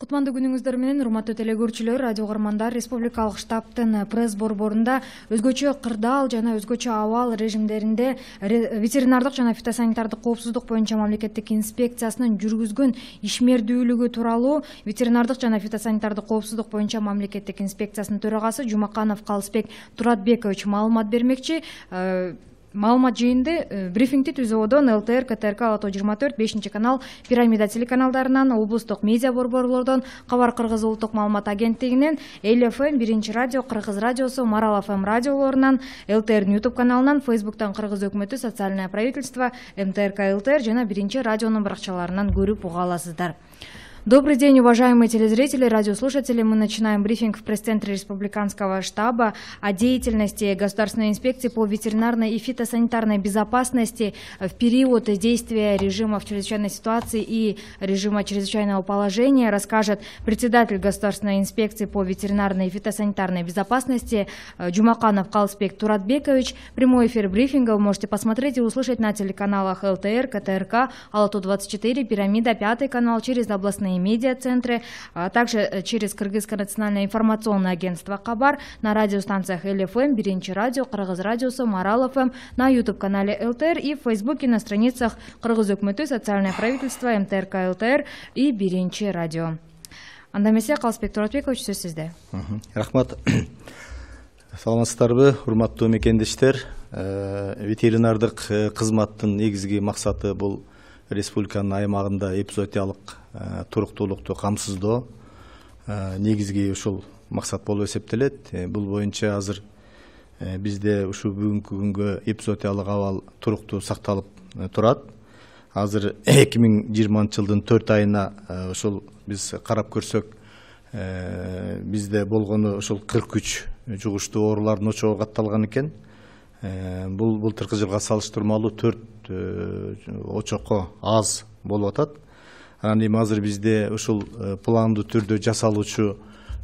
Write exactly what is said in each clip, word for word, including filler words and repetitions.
Кутмандуу күнүңүздөр менен урматтуу телекөрүүчүлөр, радио угармандар, республикалык штабтын пресс борборунда өзгөчө кырдаал жана өзгөчө абал режимдеринде ветеринардык жана фитосанитардык коопсуздук боюнча мамлекеттик инспекциясынын жүргүзгөн ишмердүүлүгү тууралуу ветеринардык жана фитосанитардык коопсуздук боюнча мамлекеттик инспекциясынын төрагасы Жумаканов Калысбек Туратбекович маалымат бермекчи. Маалымат жыйынды брифингди түзүүдөн ЛТР, КТРК, Ала тоо жыйырма төрт, бешинчи канал, Пирамида телеканалдарынан, облустук медиа борборлордон, Кабар Кыргыз улуттук маалымат агенттигинен, Эл эф эм, Биринчи радио, Кыргыз радиосу, Марал эф эм радиолорунан, ЛТРдин YouTube каналынан, Фейсбуктан Кыргыз өкмөтү, Социальное правительство, эм тэ эр ка ЛТР жана Биринчи радионун баракчаларынан көрүп уга аласыздар. Добрый день, уважаемые телезрители, радиослушатели. Мы начинаем брифинг в пресс-центре Республиканского штаба о деятельности Государственной инспекции по ветеринарной и фитосанитарной безопасности в период действия режима чрезвычайной ситуации и режима чрезвычайного положения. Расскажет председатель Государственной инспекции по ветеринарной и фитосанитарной безопасности Жумаканов Калысбек Туратбекович. Прямой эфир брифинга вы можете посмотреть и услышать на телеканалах ЛТР, КТРК, Ала тоо двадцать четыре, Пирамида, Пятый канал, через областные медиа-центры, а также через Кыргызское национальное информационное агентство Кабар, на радиостанциях Эл эф эм, Биринчи радио, Кыргыз радиосу, Марал эф эм, на YouTube-канале ЛТР и в Фейсбуке на страницах Кыргыз өкмөтү, Социальное правительство, эм тэ эр ка ЛТР и Биринчи радио. Анда эмесе Калысбек Туратбекович, сөз сизде. Рахмат. Саламатсыздарбы, урматтуу мекендештер. Ветеринардык кызматтын негизги максаты бул республиканын аймагында эпизоотиялык туруктуулукту камсыздоо негизги ушул максат болуп эсептелет. Бул боюнча азыр бизде ушул бүгүнкү күнгө эпизоотиялык абал туруктуу сакталып турат. Азыр эки миң жыйырманчы жылдын төрт айына ушул биз карап көрсөк, бизде болгону ушул кырк үч жугуштуу оорулардын очогу катталган экен. Бул былтыркы жылга салыштырмалуу төрт очокко аз болуп атат. Анан эми азыр бизде ушул пландуу түрдө жасалуучу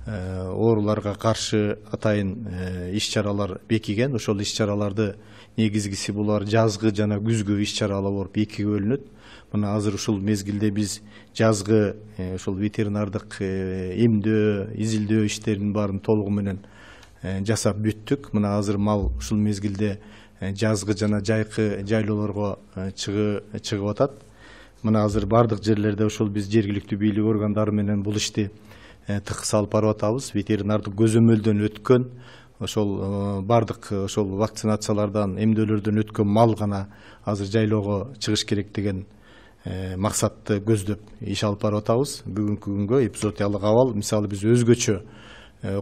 ооруларга каршы атайын иш-чаралар бекиген. Ошол иш-чараларды негизгиси булар жазгы жана күзгү иш-чаралар болуп экиге бөлүнөт. Мына азыр ушул мезгилде биз жазгы ушул ветеринардык эмдөө, изилдөө иштеринин баарын толугу менен жасап бүттүк. Мына азыр мал ушул мезгилде жазгы жана жайкы жайлоолорго чыгып атат. Мына азыр бардык жерлерде ушул биз жергиликтүү бийлик органдары менен бул ишти тыкыс алып барып атабыз. Ветеринардык көзөмөлдөн өткөн, ошол бардык ошол вакцинациялардан, эмдөөлөрдөн өткөн мал гана азыр жайлоого чыгыш керек деген максатты көздөп иш алып барып атабыз. Бүгүнкү күнгө эпизоотиялык абал мисалы биз өзгөчө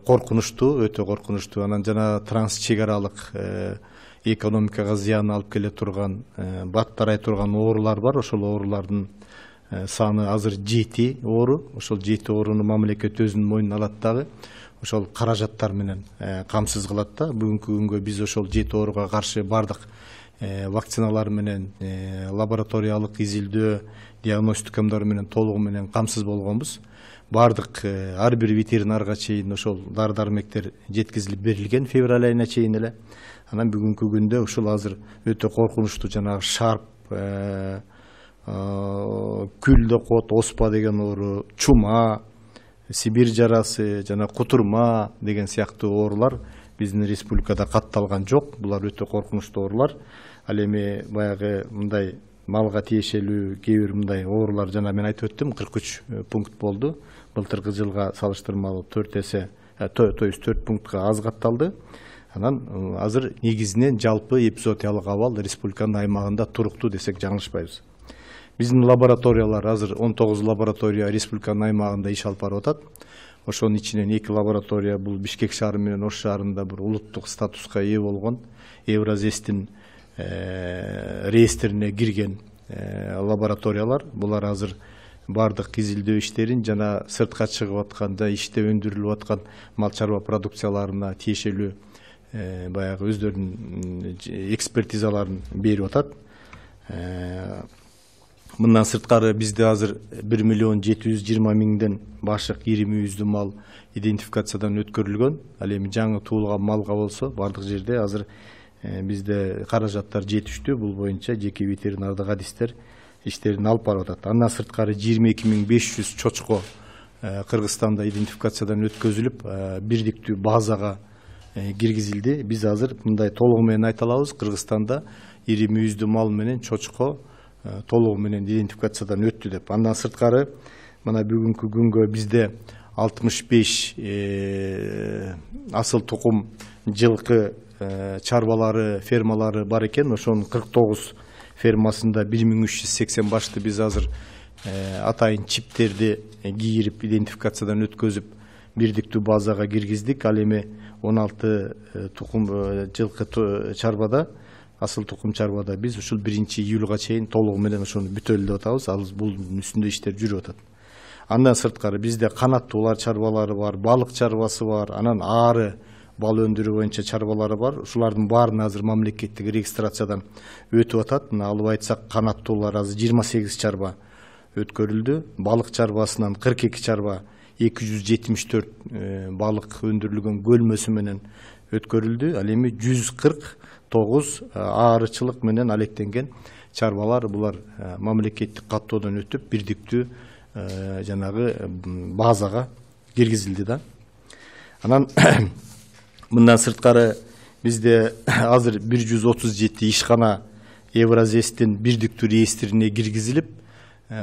коркунучтуу, өтө коркунучтуу, анан жана транс чек аралык экономикага зыян алып келе турган, бат тарай турган оорулар бар. Ошол оорулардын саны азыр жети оору. Ошол жети ооруну мамлекет өзүнүн мойнуна алат дагы. Ошол каражаттар менен камсыз кылат да. Бүгүнкү күнгө биз ошол жети ооруга каршы бардык вакциналар менен, лабораториялык изилдөө, диагностикамдар менен толугу менен камсыз болгонбуз. Бардык ар бир ветеринарга чейин ошол дары дармектер жеткизилип берилген февраль айына чейин эле. Анан бүгүнкү күндө ушул азыр өтө коркунучтуу жанагы шарп, күл деп коет, оспа деген оору, чума, Сибирь жарасы жана кутурма деген сыяктуу оорулар биздин республикада катталган жок. Булар өтө коркунучтуу оорулар. Ал эми баягы мындай малга тиешелүү кээ бир мындай оорулар жана мен айтып өттүм, кырк үч пункт болду. Былтыркы жылга салыштырмалуу төрт эсе, төрт пунктка аз катталды. Анан азыр негизинен жалпы эпизоотиялык абал республиканын аймагында туруктуу десек жаңылышпайбыз. Биздин лабораториялар азыр он тогуз лаборатория республиканын аймагында иш алып барып атат. Ошонун ичинен эки лаборатория бул Бишкек шаары менен Ош шаарында бир улуттук статуска ээ болгон, Евразестин реестрине кирген лабораториялар. Булар азыр бардык изилдөө иштерин жана сыртка чыгып аткан да иште өндүрүлүп аткан мал чарба продукцияларына тиешелүү баягы өздөрүнүн экспертизаларын берип атат. Мындан сырткары бизде азыр бир миллион жети жүз жыйырма миңден башык ирими үздү мал идентификациядан өткөрүлгөн. Ал эми жаңы туулган малга болсо бардык жерде азыр бизде каражаттар жетиштүү. Бул боюнча жеке ветеринардык адистер иштерин алып барып атат. Андан сырткары жыйырма эки миң беш жүз чочко Кыргызстанда идентификациядан өткөзүлүп бирдиктүү базага киргизилди. Биз азыр мындай толугу менен айта алабыз, Кыргызстанда ири мүйүздүү мал менен чочко толугу менен идентификациядан өттү деп. Андан сырткары мына бүгүнкү күнгө бизде алтымыш беш асыл тукум жылкы чарбалары, фермалары бар экен. Ошонун кырк тогуз фермасында бир миң үч жүз сексен башты биз азыр атайын чиптерди кийирип, идентификациядан өткөзүп, бирдиктүү базага киргиздик. Ал эми он алты тукум жылкы чарбада, асыл тукум чарбада биз ушул биринчи июлга чейин толугу менен ошону бүтөлү деп атабыз. Ал бул үстүндө иштер жүрүп атат. Андан сырткары бизде канаттуулар чарбалары бар, балык чарбасы бар, анан ары бал өндүрүү боюнча чарбалары бар. Ушулардын баарына азыр мамлекеттик регистрациядан өтүп атат. Мына алып айтсак, канаттуулар азыр жыйырма сегиз чарба өткөрүлдү. Балык чарбасынан кырк эки чарба, эки жүз жетимиш төрт балык өндүрүлгөн көлмөсү менен өткөрүлдү. Ал эми жүз кырк тогуз аарычылык менен алектенген чарбалар, булар мамлекеттик каттоодон өтүп, бирдиктүү жанагы базага киргизилди да. Анан мындан сырткары бизде азыр бир жүз отуз жети ишкана Евразэстин бирдиктүү реестрине киргизилип,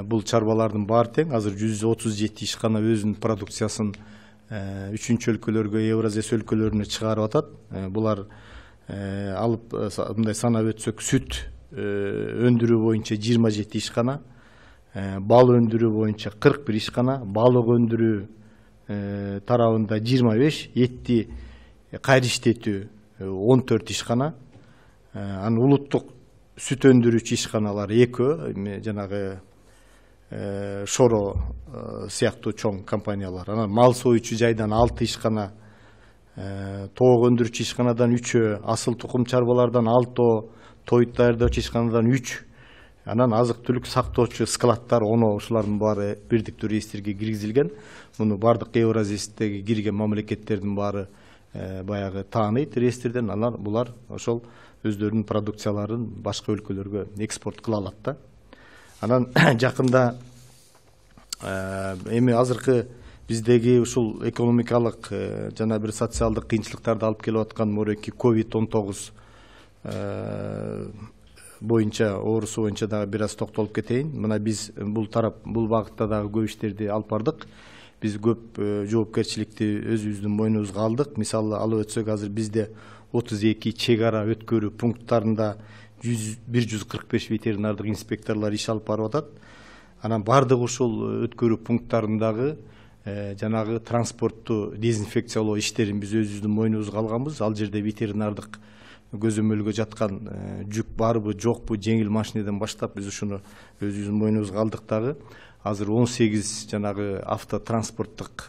бул чарбалардын баары тең. Азыр жүз отуз жети ишкана өзүнүн продукциясын үчүнчү өлкөлөргө, Евразэс өлкөлөрүнө чыгарып атат. Булар алып мындай санап өтсөк, сүт өндүрүү боюнча жыйырма жети ишкана, бал өндүрүү боюнча кырк бир ишкана, балык өндүрүү тарабында жыйырма беш, этти кайра иштетүү он төрт ишкана, анан улуттук сүт өндүрүүчү ишканалар экөө, жанагы Шоро сыяктуу чоң компаниялар. Анан мал союучу жайдан алты ишкана, тоок өндүрүүчү ишканадан үчөө, асыл тукум чарбалардан алтоо, той даярдоочу ишканадан үч, анан азык түлүк сактоочу складтар он, ушулардын баары бирдиктүү реестрге киргизилген. Муну бардык Евразэстеги кирген мамлекеттердин баары баягы тааныйт реестрден. Анан булар ошол өздөрүнүн продукцияларын башка өлкөлөргө экспорт кыла алат да. Анан жакында эми азыркы биздеги ушул экономикалык жана бир социалдык кыйынчылыктарды алып келип аткан мореки ковид он тогуз боюнча, оорусу боюнча дагы бир аз токтолуп кетейин. Мына биз бул тарап, бул багытта дагы көп иштерди алып бардык. Биз көп жоопкерчиликти өзүбүздүн мойнубузга алдык. Мисалы алып өтсөк, азыр бизде отуз эки чек ара өткөрүү пункттарында бир жүз кырк беш ветеринардык инспекторлор иш алып барып атат. Анан бардык ушул өткөрүү пункттарындагы жанагы транспортту дезинфекциялоо иштерин биз өзүбүздүн мойнубузга алганбыз. Ал жерде ветеринардык көзөмөлгө жаткан жүк барбы, жокпу, жеңил машинеден баштап биз ушуну өзүбүздүн мойнубузга алдык дагы. Азыр он сегиз жанагы автотранспорттук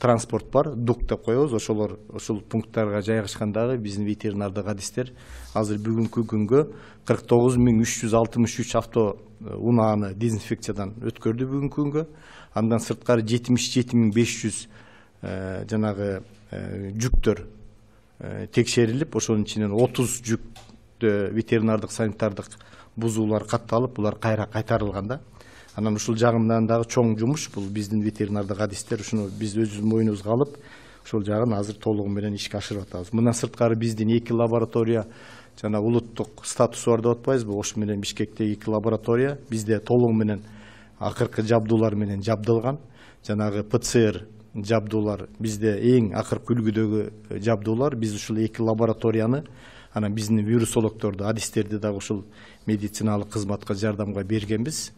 транспорт бар, дук деп коебуз. Ошолор ушул пункттарга жайгашкан дагы биздин ветеринардык адистер азыр бүгүнкү күнгө кырк тогуз миң үч жүз алтымыш үч авто унааны дезинфекциядан өткөрдү бүгүнкү күнгө. Андан сырткары жетимиш жети миң беш жүз жанагы жүктөр текшерилип, ошонун ичинен отуз жүктө ветеринардык санитардык бузуулар катталып, булар кайра кайтарылган да. Анан ушул жагынан дагы чоң жумуш, бул биздин ветеринардык адистер ушуну биз өзүбүздүн мойнубузга алып, ошол жагын азыр толугу менен ишке ашырып атабыз. Мындан сырткары биздин эки лаборатория, жана улуттук статусу бар деп атпайбызбы, Ош менен Бишкекте эки лаборатория бизде толугу менен акыркы жабдуулар менен жабдылган. Жанагы ПЦР жабдуулар бизде эң акыркы үлгүдөгү жабдуулар. Биз ушул эки лабораторияны, анан биздин вирусологдорду, адистерди дагы ушул медициналык кызматка жардамга бергенбиз.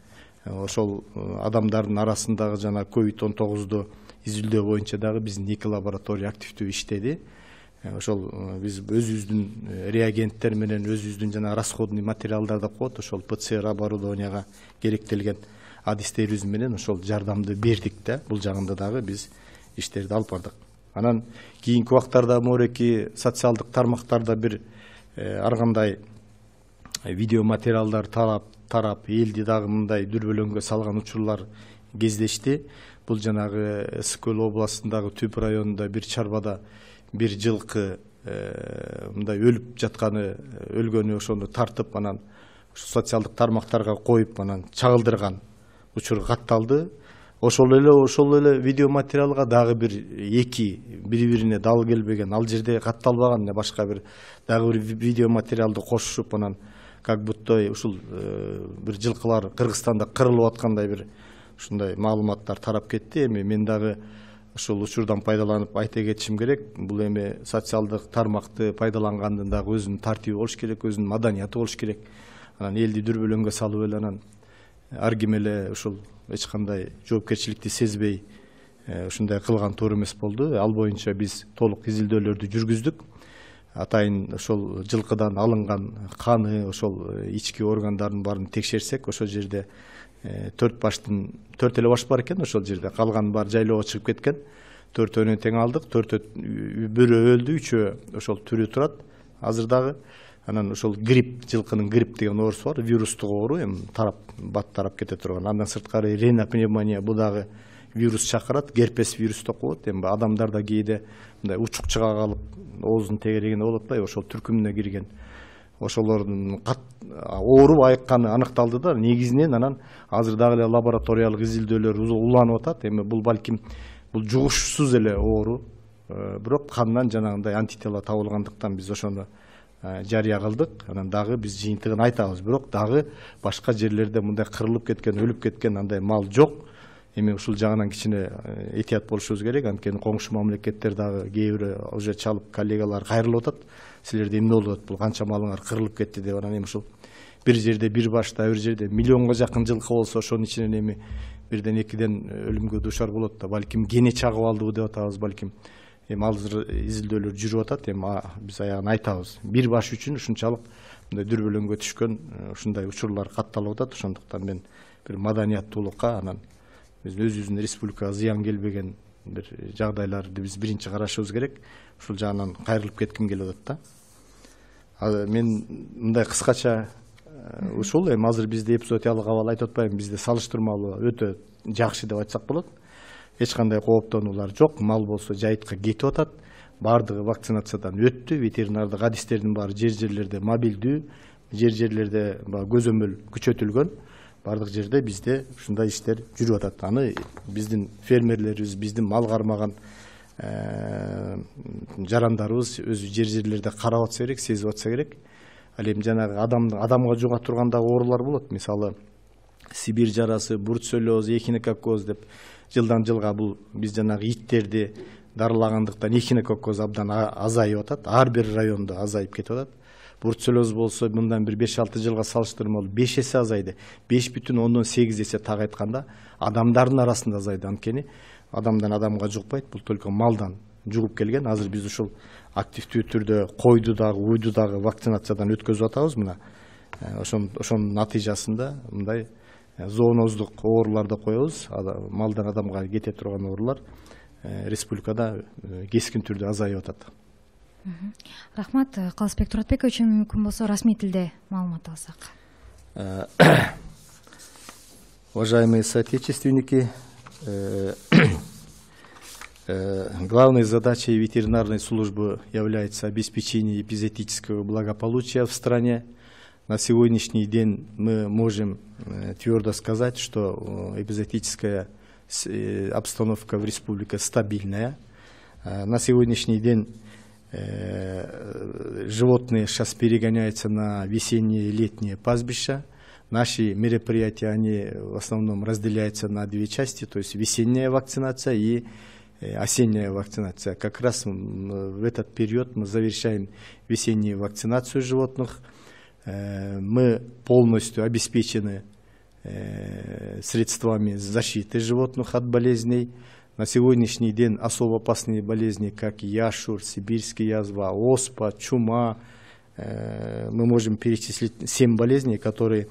Ошол адамдардын арасындагы жана ковид он тогузду изилдөө боюнча дагы биздин эки лаборатория активдүү иштеди. Ошол биз өзүбүздүн реагенттер менен, өзүбүздүн жана расходный материалдар деп коет, ошол ПЦР оборудованияга керектелген адистерибиз менен ошол жардамды бердик да. Бул жагында дагы биз иштерди алып бардык. Анан кийинки убактарда мореки социалдык тармактарда бир ар кандай видео материалдар тарап тарап элди дагы мындай дүрбөлөңгө салган учурлар кездешти. Бул жанагы Ысык көл областындагы Түп районунда бир чарбада бир жылкы мындай өлүп жатканы, өлгөнү ошону тартып, анан социалдык тармактарга коюп, анан чагылдырган учур катталды. ошол эле ошол эле видео материалга дагы бир эки бири бирине дал келбеген, ал жерде катталбаган башка бир дагы бир видео материалды кошушуп, анан как будто ушул бир жылкылар Кыргызстанда кырылып аткандай бир ушундай маалыматтар тарап кетти. Эми мен дагы ушул учурдан пайдаланып айта кетишим керек. Бул эми социалдык тармакты пайдалангандын дагы өзүнүн тартиби болуш керек, өзүнүн маданияты болуш керек. Анан элди дүрбөлөңгө салып эле анан ар ким эле ушул эч кандай жоопкерчиликти сезбей ушундай кылган туура эмес болду. Ал боюнча биз толук изилдөөлөрдү жүргүздүк. Атайын ошол жылкыдан алынган каны, ошол ички органдардын баарын текшерсек, ошол жерде төрт баштын төрт эле баш бар экен. Ошол жерде калган баары жайлоого чыгып кеткен. Төртөөнү тең алдык. Төртөө бирөө өлдү, үчөө ошол тирүү турат азыр дагы. Анан ошол грипп, жылкынын грипп деген оорусу бар, вирустук оору, эми тарап бат тарап кете турган. Андан сырткары ринопневмония, бул дагы вирус чакырат, герпес вирус деп коет. Эми адамдарда кээде мындай учук чыга калып, оозун тегерегине болуп атпайбы, ошол түркүмүнө кирген. Ошолордун ооруп айыкканы аныкталды да, негизинен анан азыр дагы эле лабораториялык изилдөөлөр уланып атат. Эми бул балким бул жугушсуз эле оору, бирок кандан жанагындай антитела табылгандыктан биз ошону жарыя кылдык. Анан дагы биз жыйынтыгын айтабыз, бирок дагы башка жерлерде мындай кырылып кеткен, өлүп кеткен андай мал жок. Эми ушул жагынан кичине этият болушубуз керек. Анткени коңшу мамлекеттер дагы кээ бири уже чалып коллегалар кайрылып атат. Силерде эмне болуп атат, бул канча малыңар кырылып кетти деп. Анан эми ушул бир жерде бир башта, бир жерде миллионго жакын жылкы болсо, ошонун ичинен эми бирден экиден өлүмгө дуушар болот да. Балким кене чагып алдыбы деп атабыз, балким. Эми азыр изилдөөлөр жүрүп атат. Эми биз аягын айтабыз. Бир баш үчүн ушунчалык мындай дүрбөлөңгө түшкөн ушундай учурлар катталып атат. Ошондуктан мен бир маданияттуулукка, анан биз өзүбүздүн республикага зыян келбеген бир жагдайларды биз биринчи карашыбыз керек. Ушул жагынан кайрылып кетким келип атат да. Мен мындай кыскача ушул эми азыр бизде эпизоотиялык абал айтып атпайбы, бизде салыштырмалуу өтө жакшы деп айтсак болот. Эч кандай кооптонуулар жок. Мал болсо жайытка кетип атат. Баардыгы вакцинациядан өттү. Ветеринардык адистердин баары жер-жерлерде мобилдүү, жер-жерлерде көзөмөл күчөтүлгөн. Баардык жерде бизде ушундай иштер жүрүп атат. Аны биздин фермерлерибиз, биздин мал кармаган жарандарыбыз өзү жер-жерлерде карап атса керек, сезип атса керек. Ал эми жанагы адамга жуга тургандагы оорулар болот. Мисалы Сибирь жарасы, бруцеллез, эхинококкоз деп жылдан жылга бул биз жанагы иттерди дарылагандыктан эхинококкоз абдан азайып атат. Ар бир райондо азайып кетип атат. Бруцеллез болсо мындан бир беш алты жылга салыштырмалуу беш эсе азайды. беш бүтүн ондон сегиз эсе так айтканда адамдардын арасында азайды. Анткени адамдан адамга жукпайт, бул только малдан жугуп келген. Азыр биз ушул активдүү түрдө койду дагы, уйду дагы вакцинациядан өткөзүп атабыз. Мына ошонун натыйжасында мындай зооноздук ооруларды коебуз. Малдан адамга кете турган оорулар республикада кескин түрдө азайып атат. Рахмат. Калысбек Туратбекович, мүмкүн болсо расмий тилде маалымат алсак. Уважаемые соотечественники, главной задачей ветеринарной службы является обеспечение эпизоотического благополучия в стране. На сегодняшний день мы можем твердо сказать, что эпизоотическая обстановка в республике стабильная. На сегодняшний день животные сейчас перегоняются на весенние и летние пастбища. Наши мероприятия, они в основном разделяются на две части, то есть весенняя вакцинация и осенняя вакцинация. Как раз в этот период мы завершаем весеннюю вакцинацию животных. Мы полностью обеспечены средствами защиты животных от болезней. На сегодняшний день особо опасные болезни, как яшур, сибирская язва, оспа, чума, мы можем перечислить семь болезней, которые,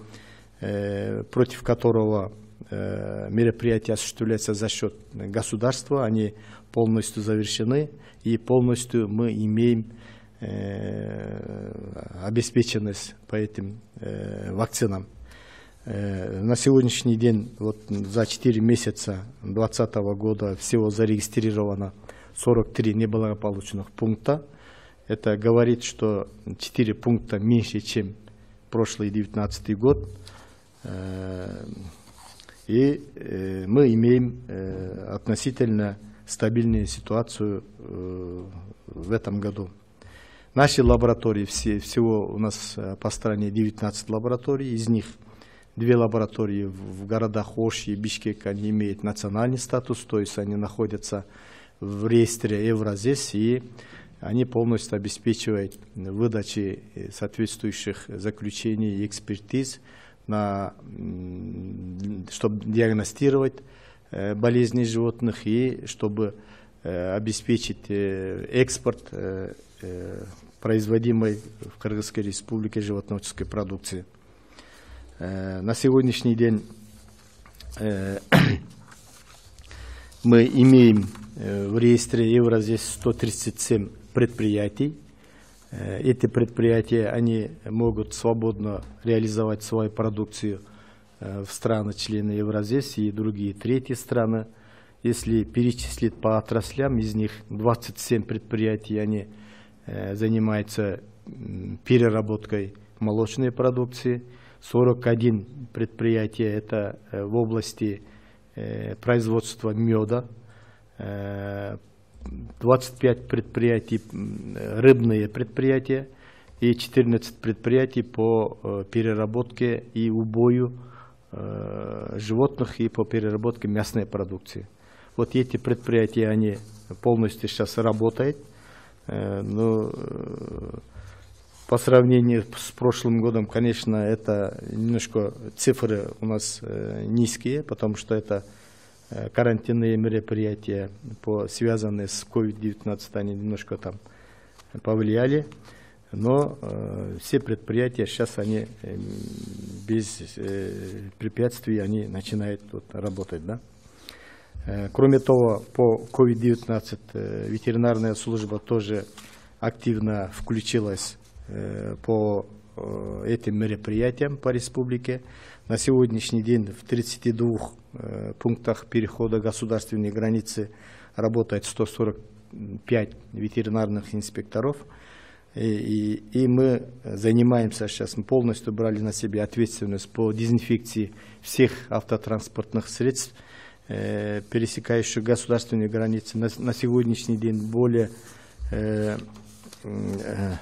против которого мероприятия осуществляются за счет государства. Они полностью завершены, и полностью мы имеем обеспеченность по этим вакцинам. На сегодняшний день, вот за четыре месяца две тысячи двадцатого года всего зарегистрировано сорок три неблагополучных пункта. Это говорит, что четыре пункта меньше, чем прошлый девятнадцатый год. И мы имеем относительно стабильную ситуацию в этом году. Наши лаборатории, все, всего у нас по стране девятнадцать лабораторий, из них две лаборатории в городах Ош и Бишкек, они имеют национальный статус, то есть они находятся в реестре Евразес, и они полностью обеспечивают выдачу соответствующих заключений и экспертиз, на, чтобы диагностировать болезни животных и чтобы обеспечить экспорт производимой в Кыргызской Республике животноводческой продукции. На сегодняшний день мы имеем в реестре Евразес сто тридцать семь предприятий. Эти предприятия, они могут свободно реализовать свою продукцию в страны-члены Евразес и другие третьи страны. Если перечислить по отраслям, из них двадцать семь предприятий, они занимаются переработкой молочной продукции, сорок один предприятия это в области производства меда, двадцать пять предприятий рыбные предприятия и четырнадцать предприятий по переработке и убою животных и по переработке мясной продукции. Вот эти предприятия, они полностью сейчас работают, но по сравнению с прошлым годом, конечно, это немножко цифры у нас низкие, потому что это карантинные мероприятия, по, связанные с ковид девятнадцать, они немножко там повлияли, но э, все предприятия сейчас они э, без э, препятствий они начинают вот, работать, да? Э, кроме того, по ковид девятнадцать э, ветеринарная служба тоже активно включилась э, по э, этим мероприятиям по республике. На сегодняшний день в тридцати двух э, пунктах перехода государственной границы работает сто сорок пять ветеринарных инспекторов. И, и, и мы занимаемся сейчас, мы полностью брали на себя ответственность по дезинфекции всех автотранспортных средств, э, пересекающих государственные границы. На, на сегодняшний день более, э, э,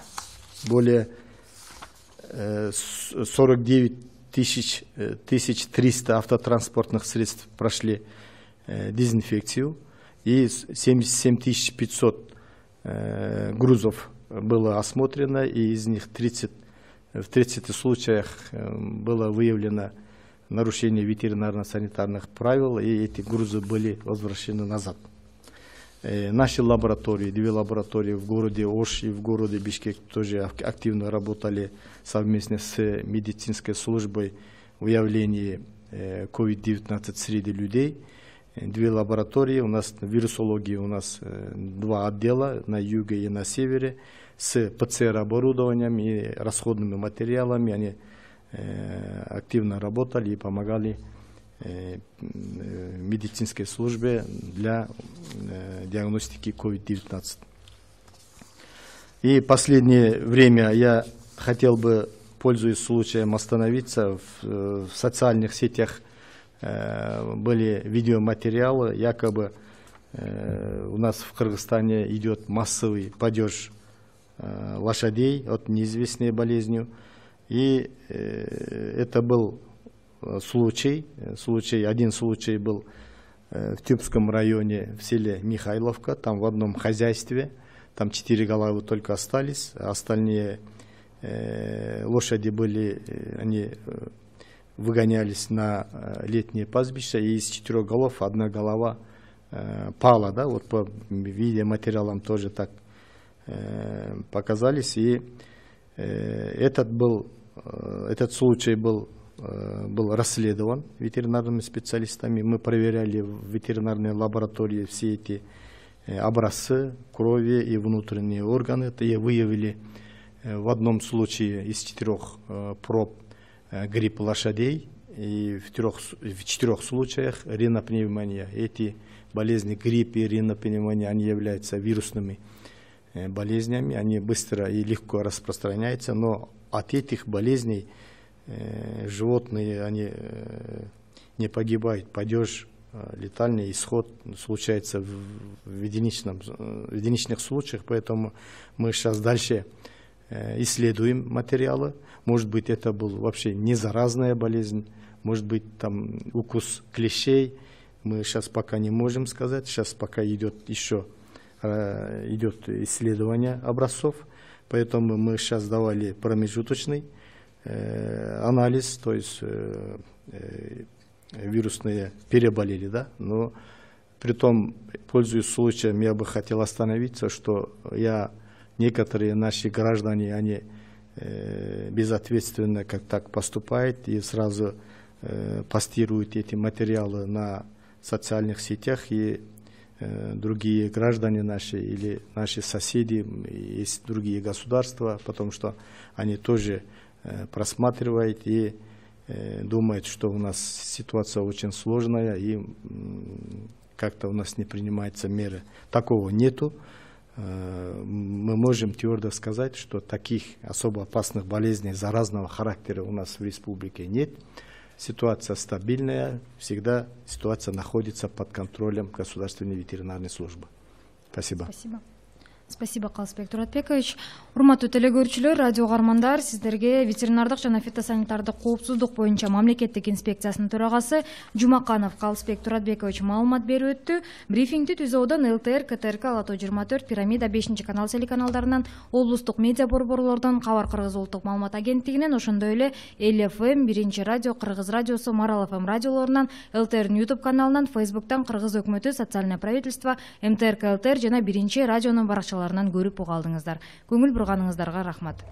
более э, сорок девять тысяч триста автотранспортных средств прошли э, дезинфекцию, и семьдесят семь тысяч пятьсот э, грузов было осмотрено, и из них тридцать, в тридцати случаях э, было выявлено нарушение ветеринарно-санитарных правил, и эти грузы были возвращены назад. Э, наши лаборатории, две лаборатории в городе Ош и в городе Бишкек тоже активно работали совместно с медицинской службой в выявлении ковид девятнадцать среди людей. Две лаборатории, у нас вирусологии, у нас два отдела на юге и на севере с ПЦР-оборудованием и расходными материалами. Они активно работали и помогали медицинской службе для диагностики ковид девятнадцать. И последнее время я хотел бы, пользуясь случаем, остановиться в, в социальных сетях. Э, были видеоматериалы, якобы э, у нас в Кыргызстане идет массовый падеж э, лошадей от неизвестной болезни. И э, это был случай, случай, один случай был э, в Тюбском районе, в селе Михайловка, там в одном хозяйстве, там четыре головы только остались, а остальные э, лошади были, они выгонялись на летние пастбища, и из четырех голов одна голова э, пала, да, вот по видеоматериалам тоже так э, показались, и э, этот был, э, этот случай был был расследован ветеринарными специалистами. Мы проверяли в ветеринарной лаборатории все эти образцы крови и внутренние органы, и выявили в одном случае из четырех проб грипп лошадей, и в, трех, в четырех случаях ринопневмония. Эти болезни грипп и ринопневмония, они являются вирусными болезнями, они быстро и легко распространяются, но от этих болезней животные, они не погибает, падеж, летальный исход случается в единичном, в единичных случаях, поэтому мы сейчас дальше исследуем материалы. Может быть, это был вообще не заразная болезнь, может быть, там укус клещей. Мы сейчас пока не можем сказать. Сейчас пока идет еще идет исследование образцов, поэтому мы сейчас давали промежуточный анализ, то есть вирусные переболели, да, но при том, пользуясь случаем, я бы хотел остановиться, что я, некоторые наши граждане, они э, безответственно как так поступают и сразу э, постируют эти материалы на социальных сетях, и э, другие граждане наши или наши соседи, есть другие государства, потому что они тоже э, просматривают и думает, что у нас ситуация очень сложная и как-то у нас не принимаются меры. Такого нету. Мы можем твердо сказать, что таких особо опасных болезней заразного характера у нас в республике нет. Ситуация стабильная, всегда ситуация находится под контролем Государственной ветеринарной службы. Спасибо. Спасибо. Спасибо, Калысбек Туратбекович. Урматтуу телекөрүүчүлөр, радио угармандар, сиздерге ветеринардык жана фитосанитардык коопсуздук боюнча мамлекеттик инспекциясынын төрагасы Жумаканов Калысбек Туратбекович маалымат берип өттү. Брифингди Түзөөдөн ЛТР, КТРК, Алатоо жыйырма төрт, Пирамида бешинчи канал телеканалдарынан, облустук медиа борборлордон, Кабар Кыргыз улуттук маалымат агенттигинен, ошондой эле Эл эф эм, Биринчи радио, Кыргыз радиосу, Марал эф эм радиолорунан, ЛТРдин YouTube каналынан, Фейсбуктан, Кыргыз өкмөтү, Социальное правительство, МТРК ЛТР жана Биринчи радионун баракчаларынан көрүп уга алдыңыздар. Көңүл бурганыңыздарга рахмат.